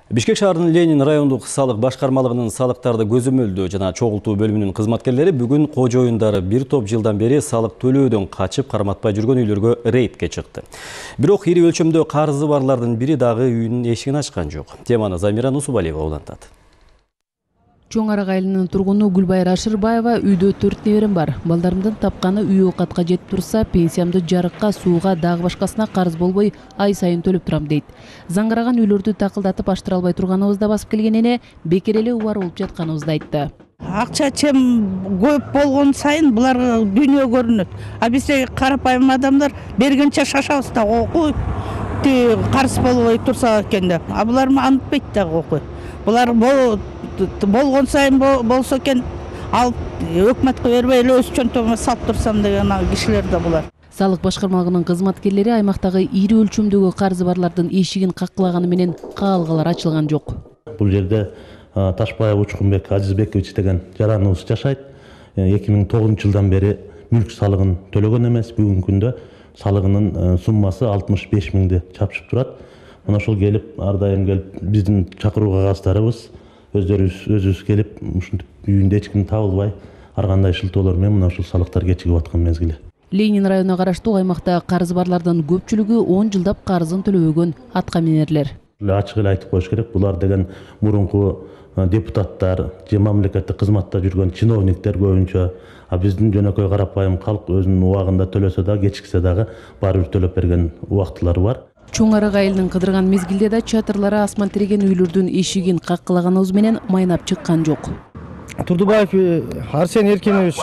Бишкек шаарынын Ленин райондук салык башкармалыгынын салыктарды көзөмөлдөө жана чогултуу бөлүмүнүн кызматкерлери бүгүн кожоюндары бир топ жылдан бери салык төлөөдөн качып карматпай жүргөн үйлөргө рейдке чыкты. Бирок ири өлчөмдө карызы барлардын бири дагы үйүнүн эшигин ачкан жок. Теманы Замира Нусубалиева улантат. Чоң Арак айылынын тургуну Гүлбайыр Ашырбаева үйдө 4 неберем бар. Балдарымдын тапканы үй оокатка жетип турса, пенсиямды жарыкка, сууга, дагы башкасына карыз болбой ай сайын төлөп турам дейт. Заңгыраган үйлөрдү такылдатып аштыра албай турганыбызда басып келген эне бекер эле убар болуп жатканыбызды айтты. Акча чем көп болгон сайын булар дүйнө көрүнөт. А бизде карапайым адамдар бергенче шашабыз да окуй, карыз болбой турса экен деп. А булар антпайт да окуй. Булар болгон сайын болсо экен алып өкмөткө бербей эле өз чөнтөгүмө салып турсам деген кишилер да булар. Салык башкармалыгынын кызматкерлери аймактагы ири өлчөмдөгү карызы барлардын эшигин каккылаганы менен каалгалар ачылган жок. Бул жерде Ташбаев Учкунбек Азизбекович деген жараныбыз жашайт. 2009 жылдан бери мүлк салыгын төлөгөн эмес. Бүгүнкү күндө салыгынын суммасы 65 миңди чапшып турат. Мына ошол келип, ар дайым келип биздин чакыруу кагазддарыбыз өзүбүз келип, ушинтип үйүндө эч ким табылбай, ар кандай шылтоолор менен мына ушул салыктар кечигип аткан мезгили. Ленин районуна караштуу аймакта карызы барлардын көпчүлүгү 10 жылдап карызын төлөбөгөн атка минерлер. Ачык эле айтып коюш керек, булар деген мурунку депутаттар, же мамлекеттик кызматта жүргөн чиновниктер көбүнчө, а биздин жөнөкөй карапайым калк өзүнүн убагында төлөсө да, кечиксе дагы баары бир төлөп берген убактылары бар. Чоң Арак айылынын кыдырган мезгилде да чатырлары асман тиреген үйлөрдүн эшигин каккылаганыбыз менен майнап чыккан жок. Турдубаев Арсен Эркинович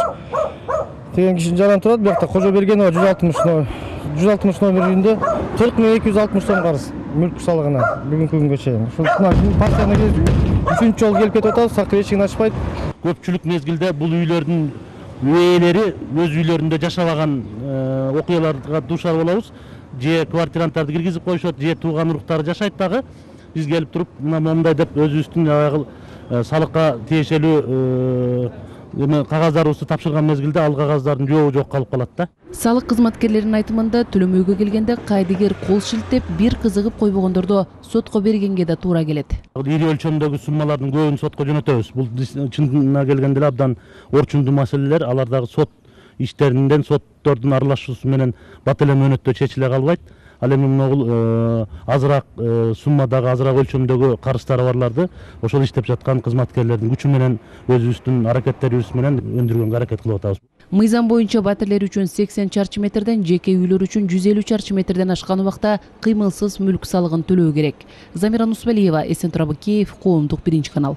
деген кишинин жараны турат. Биякта Кожобергенова 160 номер үйүндө 40.260 сом карыз мүлк салыгына бүгүнкү күнгө чейин. Ушул партияны 3-үнчү жолу келип кетип атабыз, сакыр эшигин ачпайт. Көпчүлүк мезгилде бул үйлөрдүн ээлери өз үйлөрүндө жашабаган окуяларга дуушар болобуз. Же квартиранттарды киргизип коюшат, же тууган уруктары жашайт дагы. Биз келип туруп, мындай деп өзүбүздүн салыкка тиешелүү кагаздарыбызды тапшырган мезгилде ал кагаздардын жообу жок калып калат да. Салык кызматкерлеринин айтымында төлөмөйгө келгенде кайдыгер кол шилтеп, бир кызыгып койбогондордо сотко бергенге да туура келет. Ири өлчөмдөгү суммалардын көбүн сотко жөнөтөбүз. Бул чынына келгенде эле абдан орчундуу маселелер, алар дагы сот иштеринден соттордун аралашуусу менен бат эле мөөнөттө чечиле калбайт. Ал эми могул азыраак суммадагы, азыраак өлчөмдөгү карыздары барларды ошол иштеп жаткан кызматкерлердин күчү менен өзүбүздүн аракеттерибиз менен өндүргөнгө аракет кылып атабыз. Мыйзам боюнча батирлер үчүн 80 чарчы метрден, жеке үйлөр үчүн 150 чарчы метрден ашкан убакта кыймылсыз мүлк салыгын төлөө керек. Замира Нусубалиева, Эсен Турабы, Киев, Коомдук 1 канал.